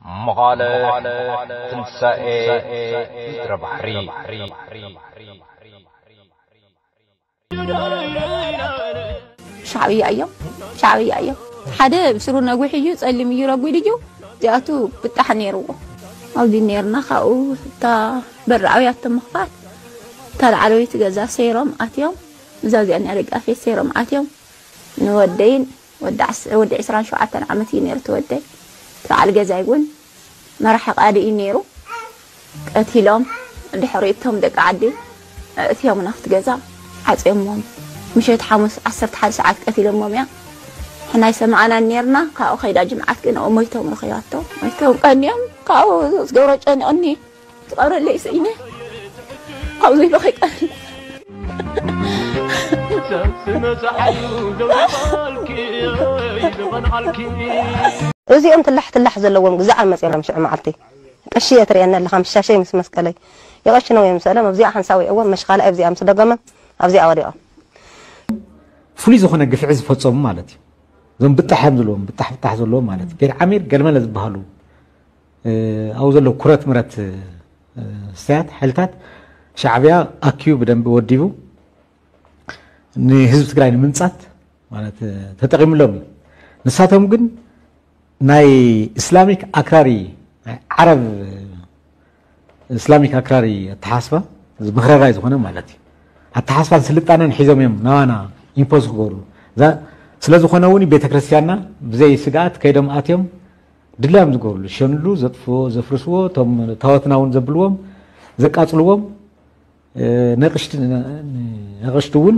መቓለ ትንሳኤ ምድረ ባሕሪ። ሻዕብያ እዮም፣ ሻዕብያ እዮም። ሓደ ብስሩ ነዊሕ እዩ፣ ጸሊም እዩ፣ ረጒድ እዩ። እዚኣቱ ብጣሕ ነይርዎ። ኣብዚ ነይርና፣ ካብኡ እታ በሪ ኣብያቶ ምኽፋት፣ እታ ላዕለወይቲ ገዛ ሰይሮም ኣትዮም። እዛ እዚኣ ናይ ደጋፊት ሰይሮም ኣትዮም። ንወደይን ወዲ ዓስ-፣ ወዲ ዕስራን ሸውዓተን ዓመት እዩ ነይሩ እቲ ወደይ። እቲ በዓል ገዛይ እውን መራሒ ቃዲ እዩ ነይሩ። ቀቲሎም፣ ድሕሪ እቶም ደቂ ዓዲ ኣእትዮምና ኣብቲ ገዛ ዓፅዮሞም። ምሸት ሓሙስ ዓሰርተ ሓደ ሰዓት ቀቲሎሞም እዮም። ንሕና ኣይሰማዕናን ነይርና። ካብኡ ከይዳ ጅምዓት ግን ኣብኡ ሞይቶም ረኺባቶ። ሞይቶም ቀንዮም። ካብኡ ዝገብሮ ጨኒቕኒ። ትቐብረለይ ስኢነ። ካብዚ ኢሉ ከይቀርብ። እዚኦም ትላሕ ትላሕ ዘለዎም ግዛዕ መፅኦም ሽዑ መዓልቲ ቀሺ እየ ትርእየኒ ኣለኻ ምስ ሻሸይ ምስ መስቀለይ ይቐሽኖም እዮም ሰለም ኣብዚኣ ሓንሳብ ወይዕዎም መሽኻላ ኣብዚኣ ምስ ደገመ ኣብዚኣ ወዲቖም። ፍሉይ ዝኾነ ግፍዒ ዝፈፀሙ ማለት እዩ። እዞም ብጣሕ እዮም ዘለዎም፣ ብጣሕ ብጣሕ ዘለዎም ማለት እዩ። ቤት ዓሚር ገለመለ ዝበሃሉ ኣብኡ ዘለዉ ኩረት ምረት ስትያት ሓይልታት ሻዕብያ ኣኪቡ ብደንቢ ወዲቡ ንህዝቢ ትግራይ ንምንፃት ማለት ተጠቒምሎም እዩ። ንሳቶም ግን ናይ እስላሚክ ኣክራሪ ናይ ዓረብ እስላሚክ ኣክራሪ ኣተሓስባ እዚ መክረራይ ዝኾነ ማለት እዩ ኣተሓስባን ስልጣነን ሒዞም እዮም ናባና ኢምፖዝ ክገብሩ። ስለዝኾነ እውን ቤተክርስትያንና ብዘይ ስግኣት ከይዶም ኣትዮም ድላዮም ዝገብርሉ ሸንሉ ዘጥፍዎ ዘፍርስዎ እቶም ታወትና እውን ዘብልዎም ዘቃፅልዎም ነቕሽቲ እውን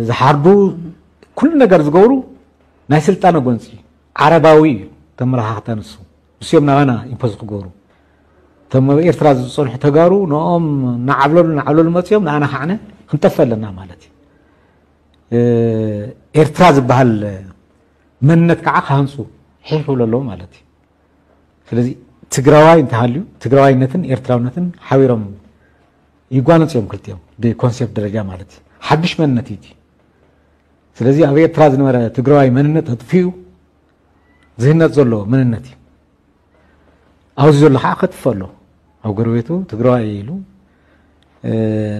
ዝሓርዱ ኩሉ ነገር ዝገብሩ ናይ ስልጣነ ጎንፂ ዓረባዊ እዩ። ተመለኻኽታ ንሱ ንስዮም ናባና ኢምፖዝ ክገብሩ እቶም ኣብ ኤርትራ ዝፀንሑ ተጋሩ ንኦም ናዓብለሉ ናዓብለሉ መፅኦም ንኣና ካዕነ ክንጠፍእ ኣለና ማለት እዩ። ኤርትራ ዝበሃል መንነት ከዓ ክሃንፁ ሒሕ ክብሉ ኣለዎ ማለት እዩ። ስለዚ ትግራዋይ እንተሃልዩ ትግራዋይነትን ኤርትራውነትን ሓቢሮም ይጓነፁ እዮም ክልቲኦም ብኮንሴፕት ደረጃ ማለት እዩ። ሓዱሽ መንነት እዩ እቲ። ስለዚ ኣብ ኤርትራ ዝነበረ ትግራዋይ መንነት ኣጥፊኡ ዝህነፅ ዘሎ መንነት እዩ። ኣብዚ ዘሎ ከዓ ከጥፍእ ኣሎ። ኣብ ጎረቤቱ ትግራዋይ ኢሉ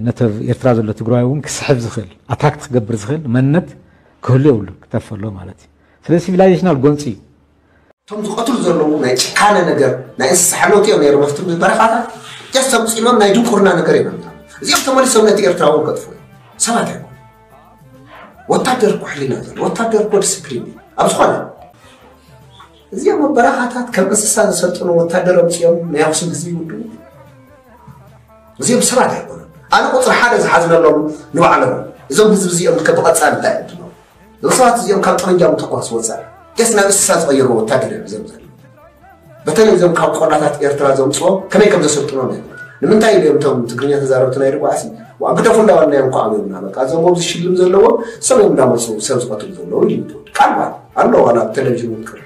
ነቲ ኣብ ኤርትራ ዘሎ ትግራዋይ እውን ክስሕብ ዝኽእል ኣትራክት ክገብር ዝኽእል መንነት ክህሉ የብሉ ክጠፍእ ኣሎ ማለት እዩ። ስለዚ ሲቪላይዜሽናል ጎንፂ እዩ። እቶም ዝቐትሉ ዘለዉ ናይ ጭካነ ነገር ናይ እንስሳ ሓለውቲ እዮም ነይሮም ኣብቲ በረኻታት ጀስ ተምፂሎም ናይ ድንቁርና ነገር እዮም ኣምፃ እዚኦም ተመሊሶም ነቲ ኤርትራ እውን ከጥፉ እዮም ሰባት ኣይኮኑ ወታደር እኮ ሕሊና ዘሎ ወታደር እኮ ዲስፕሊን እዩ ኣብ ዝኾነ እዚኦም ኣብ በረኻታት ከም እንስሳ ዝሰልጥኑ ወታደር ኣምፂኦም ናይ ኣክሱም ህዝቢ ይውድቡ እዚኦም ሰባት ኣይኮኑን ኣነ ቁፅሪ ሓደ ዝሓዝነሎም ንባዕሎም እዞም ህዝቢ እዚኦም ከ ብቐፃሊ እንታይ ዕድሎም እዞም ሰባት እዚኦም ካብ ጠመንጃ ምትኳስ ወፃኢ ጀስ ናብ እንስሳ ዝቐየሩ ወታደር እዮም እዞም ዘለዉ በተለይ እዞም ካብ ቆላታት ኤርትራ ዘምፅኦም ከመይ ከም ዘሰልጥኖም እዮም ንምንታይ ኢሉ እዮም እቶም ትግርኛ ተዛረብቲ ናይ ርጓዕሲ ግደፉ እንዳበልናዮም እኮ ኣብዮምና በቃ እዞም ኣብዚ ሽልም ዘለዎም ሰብ እዮም እንዳመፁ ሰብ ዝቐትሉ ዘለዉ ኢሉ ቃል ባል ኣሎ ዋላ ኣብ ቴሌቪዥን እውን ክር